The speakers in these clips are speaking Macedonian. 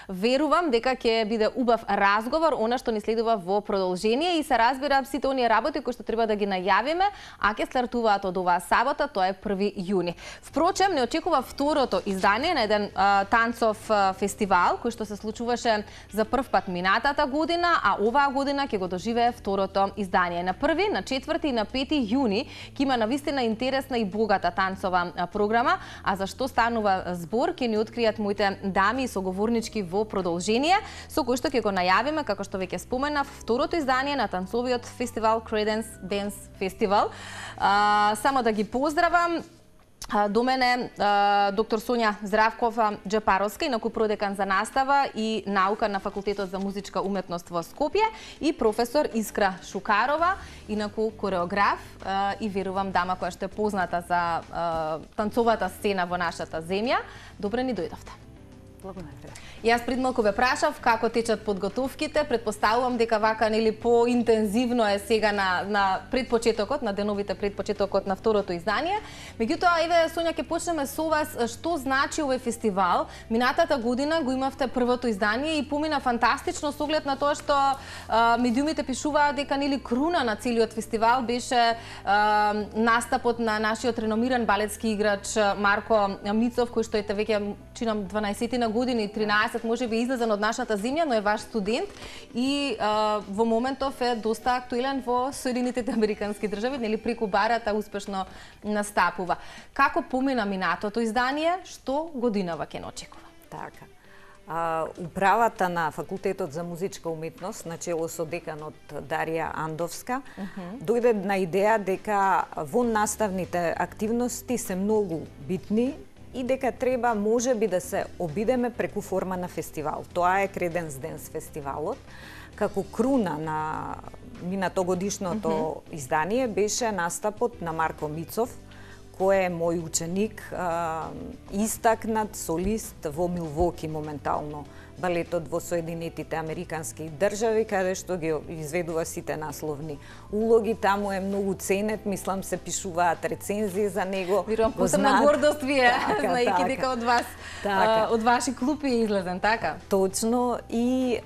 Верувам дека ќе биде убав разговор, она што ни следува во продолжение и се разбира сите оние работи кои што треба да ги најавиме, а ќе стартуваат од оваа сабота, тоа е 1 јуни. Впрочем, не очекува второто издание на еден танцов фестивал кој што се случуваше за прв пат минатата година, а оваа година ќе го доживее второто издание. На 1, на 4 и на 5 јуни ќе има навистина интересна и богата танцова програма, а за што станува збор ќе ни откријат моите дами и соговорнички во продолжение, со кој што ќе го најавиме, како што веќе споменав, второто издание на танцовиот фестивал Credence Dance Festival. Само да ги поздравам. До мене доктор Сонја Здравкова-Джапаровска, инаку продекан за настава и наука на Факултетот за музичка уметност во Скопје, и професор Искра Шукарова, инаку кореограф и верувам дама која што е позната за танцовата сцена во нашата земја. Добре ни дојдовте. Благодарам. Јас пред малку ве прашав како течат подготовките, предпоставувам дека вака нели поинтензивно е сега на предпочетокот, на деновите предпочетокот на второто издание. Меѓутоа, еве Сонја, ќе почнеме со вас. Што значи овој фестивал? Минатата година го имавте првото издание и помина фантастично со оглед на тоа што медиумите пишуваат дека нели круна на целиот фестивал беше настапот на нашиот реномиран балетски играч Марко Мицов, кој што ете веќе чинам 12 години, 13 може би излезен од нашата земја, но е ваш студент и во моментов е доста актуелен во Соединетите Американски држави, нели преку барата успешно настапува. Како помина минатото издание, што годинава ќе очекува? Така. Управата на Факултетот за музичка уметност, начело со деканот Дарија Андовска, дојде на идеја дека во наставните активности се многу битни и дека треба можеби да се обидеме преку форма на фестивал. Тоа е Credence Dance фестивалот. Како круна на минатогодишното издание беше настапот на Марко Мицов, кој е мој ученик, истакнат солист во Милвоки моментално, балетот во Соединетите Американски држави, каде што ги изведува сите насловни улоги. Таму е многу ценет, мислам се пишуваат рецензии за него. Верувам, посебна гордост ви е, знаејќи дека од вас, од ваши клупи е излезен, така? Точно, и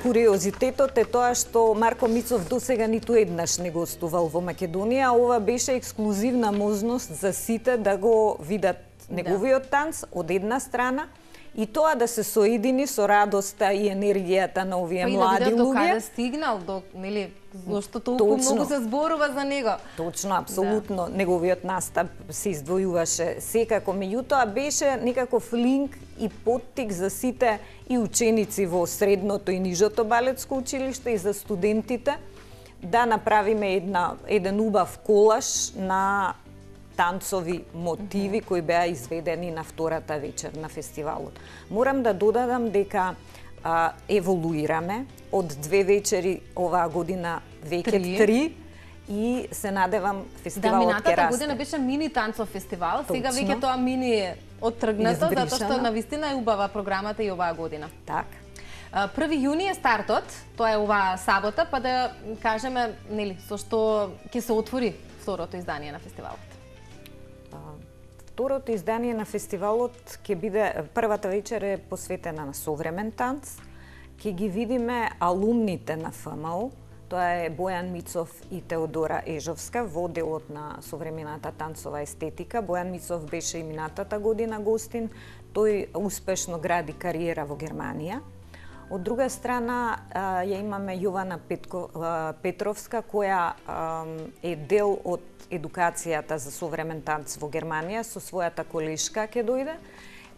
куриозитетот е тоа што Марко Мицов досега ниту еднаш не гостувал во Македонија, ова беше ексклузивна можност за сите да го видат неговиот танц од една страна, и тоа да се соедини со радоста и енергијата на овие млади луѓе. Па и да видат до каде стигнал, нели, зашто толку многу се зборува за него. Точно, апсолутно. Неговиот настап се издвојуваше секако, меѓутоа беше некаков линк и поттик за сите и ученици во средното и нижото балетско училиште и за студентите да направиме еден убав колаж на танцови мотиви кои беа изведени на втората вечер на фестивалот. Морам да додадам дека еволуираме од 2 вечери оваа година веќе 3 и се надевам фестивалот ќе расте. Да, минатата година беше мини танцов фестивал, сега веќе тоа мини е оттргнато, затоа што навистина е убава програмата и оваа година. Така. 1 јуни е стартот, тоа е оваа сабота, па да кажеме, нели, со што ќе се отвори второто издание на фестивалот. Второто издание на фестивалот ќе биде, првата вечер е посветена на современ танц. Ќе ги видиме алумните на ФМУ, тоа е Бојан Мицов и Теодора Ежовска во делот на современата танцова естетика. Бојан Мицов беше и минатата година гостин, тој успешно гради кариера во Германија. Од друга страна ја имаме Јована Петровска, која е дел од едукацијата за современ танц во Германија, со својата колешка ќе дојде.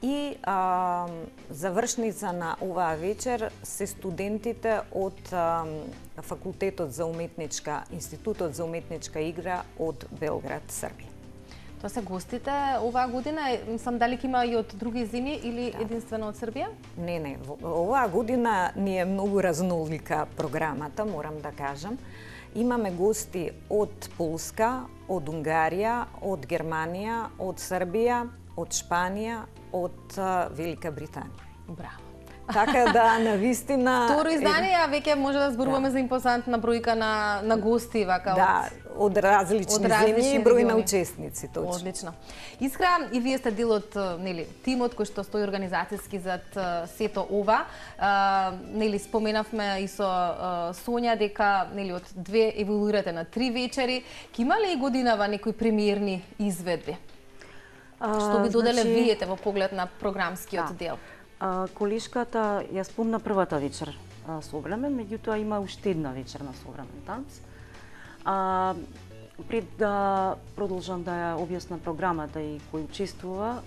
И завршница на оваа вечер се студентите од Факултетот за уметничка, Институтот за уметничка игра од Белград, Србија. Тоа се гостите оваа година, мислам дали ќе има и од други земји или единствено од Србија? Не, оваа година ни е многу разнолика програмата, морам да кажам. Имаме гости од Полска, од Унгарија, од Германија, од Србија, од Шпанија, од Велика Британија. Браво. Така да, навистина... Второ издание, а веќе може да зборуваме за импозантна бројка на гости, вака. Да, од различни земји и број на учесници, точно. Одлично. Искра, и вие сте дел од тимот кој што стои организацијски зад сето ова. Споменавме и со Сонја дека од 2 еволуирате на 3 вечери. Ке има ли и годинава некои премиерни изведби? Што би доделе виете во поглед на програмскиот дел? Колешката ја спомна првата вечер современ, меѓутоа има уште една вечер на современ танц. Пред да продолжам да ја објаснам програмата и кој учествува,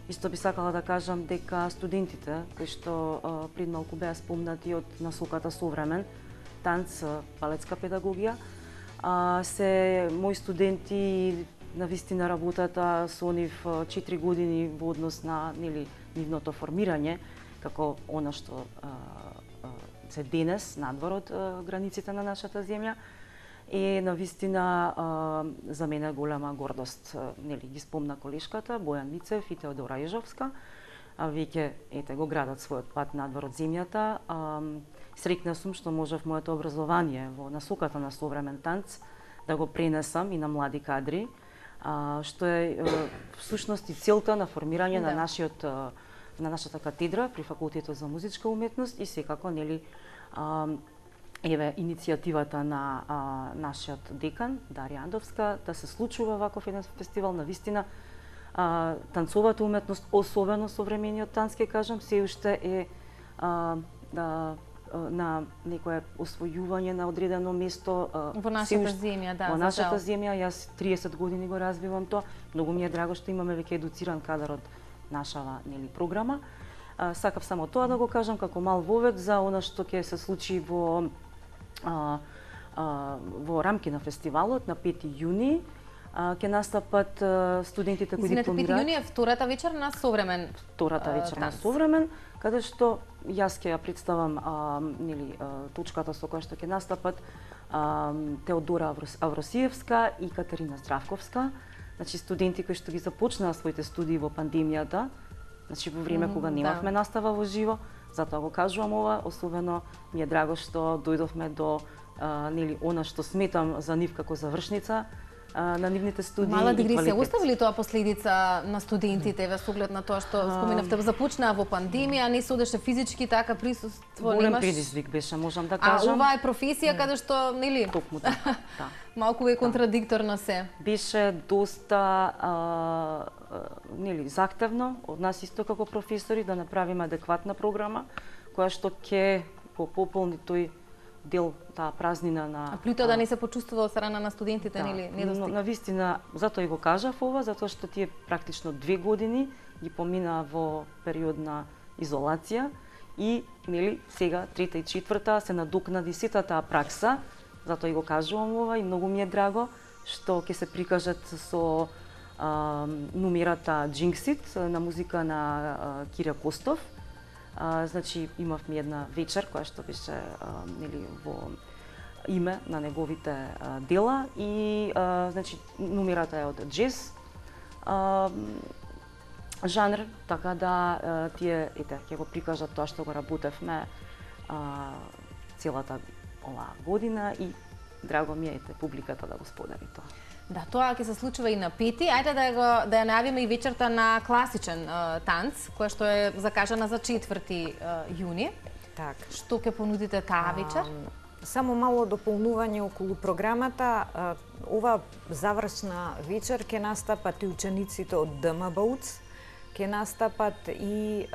исто би сакала да кажам дека студентите кои што пред малку беа спомнати од насоката современ танц, балетска педагогија, се мои студенти. Навистина работата со нив 4 години во однос на нивното формирање, како она што се денес надвор од границите на нашата земја, е навистина за мене голема гордост. Ги спомна колешката Бојан Мицев и Теодора Ежовска, веќе го градат својот пат надвор од земјата. Среќна сум што можев моето образование во насоката на современ танц да го пренесам и на млади кадри, што е всушност и целта на формирање на нашата катедра при Факултетот за музичка уметност и секако иницијативата на нашиот декан Дарија Андовска да се случува ваков еден фестивал. Навистина танцовата уметност, особено современиот танц, ке кажам, се уште е на некое освојување на одредено место во нашата земја, во нашата земја. Јас 30 години го развивам тоа. Многу ми е драго што имаме веќе едуциран кадар од нашава програма. Сакав само тоа да го кажам како мал вовед за она што ќе се случи во рамки на фестивалот на 5 јуни. Ќе настапат студентите кои дипломираат. 5 јуни е втората вечер на современ. Втората вечер на современ, каде што јас ќе ја представам точката со која што ќе настапат Теодора Авросиевска и Катерина Здравковска. Значи студенти кои што ги започнаа своите студии во пандемијата, значи во време кога немавме настава во живо, затоа го кажувам ова, особено ми е драго што дојдовме до она што сметам за нив како завршница на нивните студии. Мала дигресија, остави ли тоа последица на студентите во оглед на тоа што споменавте, започнаа во пандемија, не се одеше физички, така присуство немаш? Голем предизвик беше, можам да кажам. Ова е професија каде што, Токму да. Малку е контрадикторно се. Беше доста захтевно од нас исто како професори да направиме адекватна програма која што ќе пополни тој дел, таа празнина на... А плюто да не се почувствува од страна на студентите, недостиг? Навистина, затоа и го кажав ова, затоа што тие практично 2 години ги помина во период на изолација и сега, 3-та и 4-та, се надокнади сета таа пракса, затоа и го кажувам ова и многу ми е драго што ќе се прикажат со номерата Jinx It на музика на Кире Костов. Значи имавме една вечер која што беше во име на неговите дела и значи номерата е од джез жанр, така да тие ќе го прикажат тоа што го работевме целата оваа година и драго ми е публиката да го сподели тоа. Да, тоа ќе се случува и на 5-ти. Ајде да ја најавиме и вечерта на класичен танц, која што е закажана за 4 јуни. Так. Што ќе понудите таа вечер? Само мало дополнување околу програмата. Ова завршна вечер ќе настапат и учениците од ДМБУЦ, ќе настапат и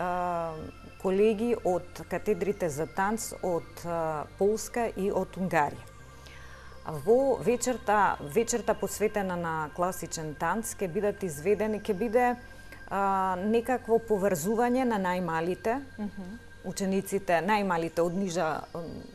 колеги од катедрите за танц од Полска и од Унгарија. Во вечерта посветена на класичен танц ќе бидат изведени, ќе биде некакво поврзување на најмалите учениците, најмалите од нижа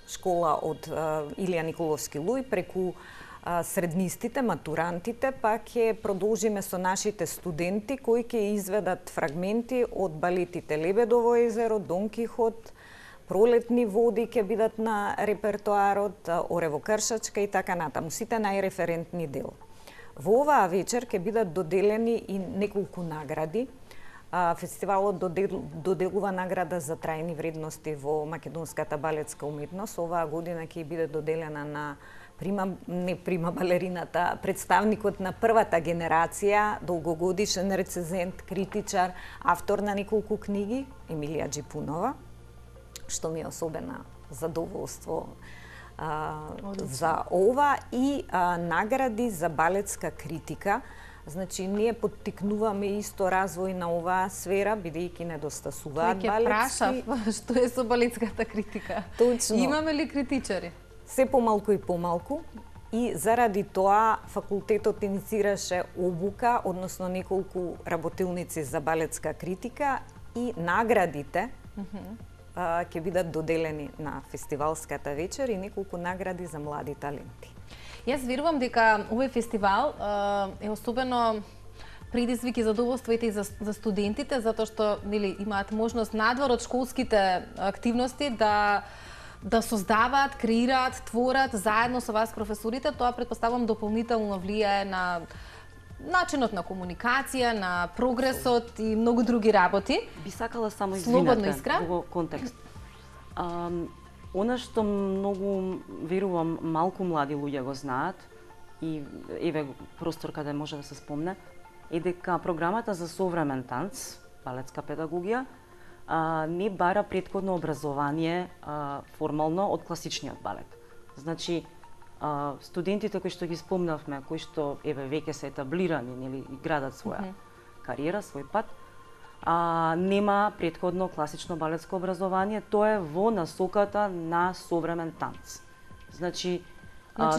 школа од Илија Николовски Луј преку среднистите, матурантите, па ќе продолжиме со нашите студенти кои ќе изведат фрагменти од балетите Лебедово езеро, Дон Кихот, Пролетни води ќе бидат на репертоарот, Орево Кршачка и така натаму, сите најреферентни дел. Во оваа вечер ќе бидат доделени и неколку награди. Фестивалот доделува награда за трајни вредности во македонската балетска уметност. Оваа година ќе биде доделена на прима балерината, представникот на првата генерација, долгогодишен рецензент, критичар, автор на неколку книги, Емилија Джипунова, што ми е особена задоволство за ова, и награди за балетска критика. Значи, ние поттикнуваме исто развој на оваа сфера, бидејќи недостасуваат балетски. Ќе прашав, што е со балетската критика? Точно. Имаме ли критичари? Се помалку и помалку, и заради тоа факултетот инициираше обука, односно неколку работилници за балетска критика, и наградите ќе бидат доделени на фестивалската вечер и неколку награди за млади таленти. Јас верувам дека овој фестивал е особено предизвик и задоволство и за студентите, затоа што имаат можност надвор од школските активности да создаваат, креираат, творат заедно со вас професорите. Тоа претпоставувам дополнително влијае на начинот на комуникација, на прогресот и многу други работи. Би сакала само Слободно, во контекст. Она што многу верувам малку млади луѓе го знаат, и еве простор каде може да се спомне, е дека програмата за современ танц, балетска педагогија, не бара претходно образование формално од класичниот балет. Значи, студентите кои што ги спомнавме, кои што еве веќе се етаблирани или градат своја кариера, свој пат, нема претходно класично балетско образование, тоа е во насоката на современ танц. Значи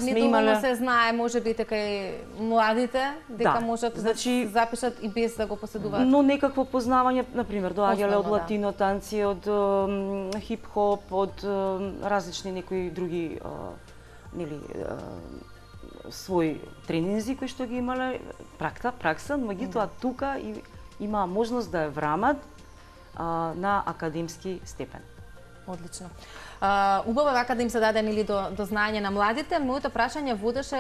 не доволно се знае, може би дека и младите дека можат да се запишат и без да го поседуваат. Но некакво познавање, например, доаѓале од латино танци, од хип-хоп, од различни некои други своји тренинзи кои што ги имале пракса, меѓутоа тука има можност да ја врамат на академски степен. Одлично. Убаво е вака да им се даде до знаење на младите. Моето прашање водеше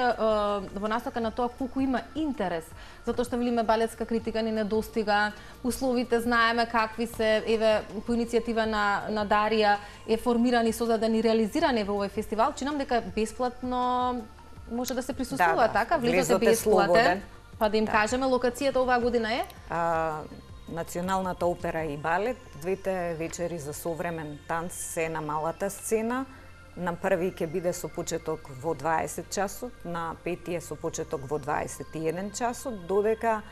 во насока на тоа колку има интерес, затоа што велиме балетска критика ни недостига, условите знаеме какви се, еве по иницијатива на Дарија е формиран и создаден и реализиран во овој фестивал. Чинам дека бесплатно може да се присуствува, така? Влезот е бесплатен. Па да им кажеме, локацијата оваа година е? Националната опера и балет, двете вечери за современ танц се на малата сцена. На први ќе биде со почеток во 20 часот, на пети е со почеток во 21 часот, додека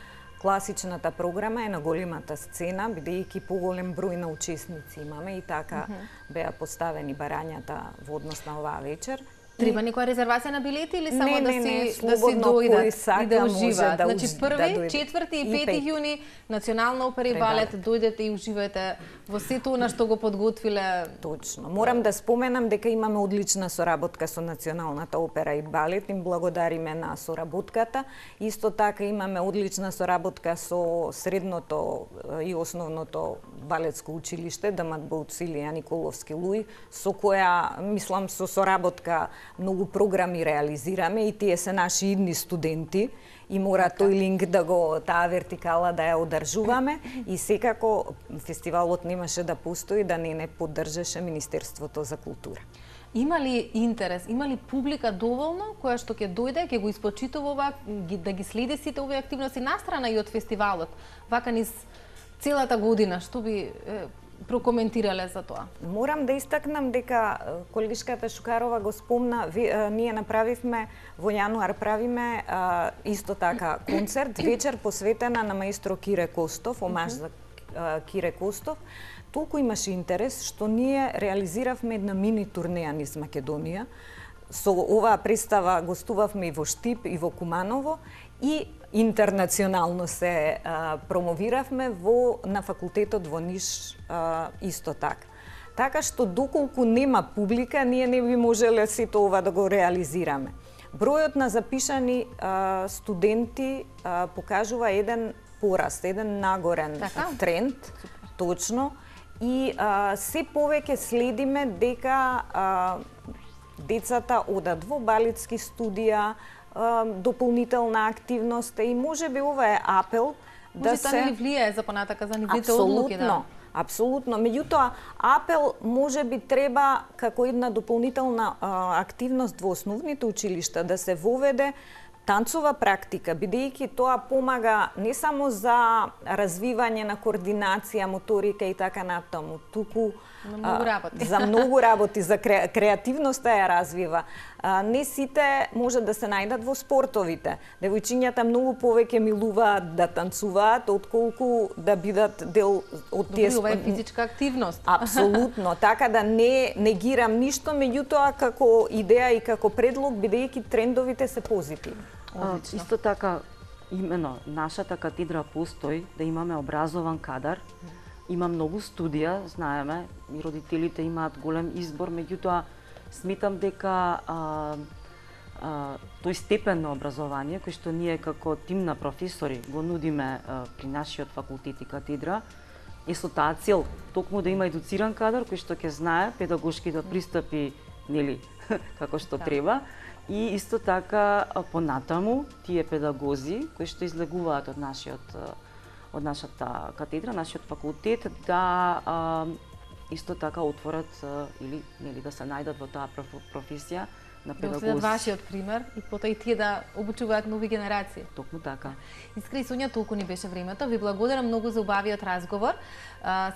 класичната програма е на големата сцена, бидејќи поголем број на учесници имаме и така беа поставени барањата во однос на оваа вечер. Треба некоја резервација на билети или само да си дојдат и да уживаат? Значи 1, 4 и 5 јуни Национална опера и балет, дојдете и уживајте во сето она што го подготвиле. Точно. Морам да споменам дека имаме одлична соработка со Националната опера и балет, им благодариме на соработката. Исто така имаме одлична соработка со средното и основното балетско училиште Дамат Бауцилија Николовски Луј, со која, мислам, со соработка многу програми реализираме и тие се наши идни студенти и мора тој линк да го, таа вертикала да ја одржуваме и секако фестивалот немаше да постои да не поддржеше Министерството за култура. Има ли интерес, има ли публика доволно која што ќе дојде, ќе го испочитува, да ги следи сите овие активности настрана и од фестивалот, вака низ целата година, што би прокоментирале за тоа? Морам да истакнам дека колегишката Шукарова го спомна, ние направивме во јануар правиме исто така концерт, вечер посветена на маестро Кире Костов, омаж за Кире Костов. Толку имаше интерес што ние реализиравме една мини турнеја низ Македонија. Со оваа представа гостувавме и во Штип и во Куманово и интернационално се промовиравме на факултетот во Ниш исто така. Така што доколку нема публика, ние не би можеле сето ова да го реализираме. Бројот на запишани студенти покажува еден пораст, еден нагорен тренд, точно, и се повеќе следиме дека децата одат во балетски студија, дополнителна активност и може би ова е апел да се... Може тоа ли влијае за понатака за нивните одлуки? Апсолутно. Меѓутоа, апел може би треба како една дополнителна активност во основните училишта да се воведе танцова практика, бидејќи тоа помага не само за развивање на координација, моторика и така натаму, туку за многу работи, за креативноста ја развива. Не сите може да се најдат во спортовите. Девојчињата многу повеќе милуваат да танцуваат отколку да бидат дел од тие. Ова е физичка активност. Апсолутно, така да не негирам ништо, меѓутоа како идеја и како предлог, бидејќи трендовите се позитивни. Исто така, имено, нашата катедра постои да имаме образован кадар. Има многу студија, знаеме, и родителите имаат голем избор, меѓутоа сметам дека тој степен на образование, кој што ние како тим на професори го нудиме при нашиот факултет и катедра, е со таа цел, токму да има едуциран кадар кој што ќе знае педагошки да пристапи, нели, како што треба, и исто така понатаму тие педагози кои што излегуваат од нашата катедра, нашиот факултет, да исто така отворат или нели да се најдат во таа професија на педагози. Да вашиот пример и потоа и тие да обучуваат нови генерации. Токму така. Искри Сонја, толку ни беше времето. Ви благодарам многу за убавиот разговор.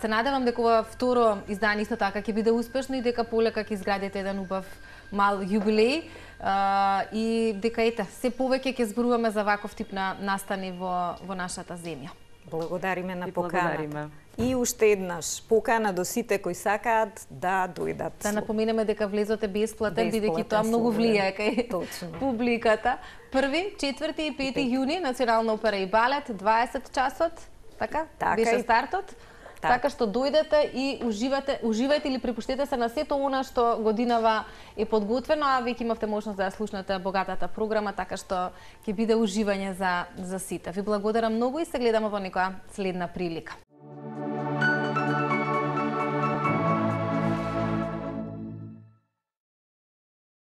Се надевам дека ова второ издание исто така ќе биде успешно и дека полека ќе изградите еден убав мал јубилеј и дека се повеќе ќе зборуваме за ваков тип на настани во нашата земја. Благодариме на поканата. И уште еднаш покана до сите кои сакаат да дојдат. Да напоменеме дека влезот е бесплатен, бидејќи тоа многу влијае кај публиката. 1, 4 и 5 јуни Национална опера и балет, 20 часот, така? Беше стартот. Така што дојдете и уживајте или препуштете се на сето она што годинава е подготвено, а веќе имавте можност да ја слушнете богатата програма, така што ќе биде уживање за сите. Ви благодарам многу и се гледаме во некоја следна прилика.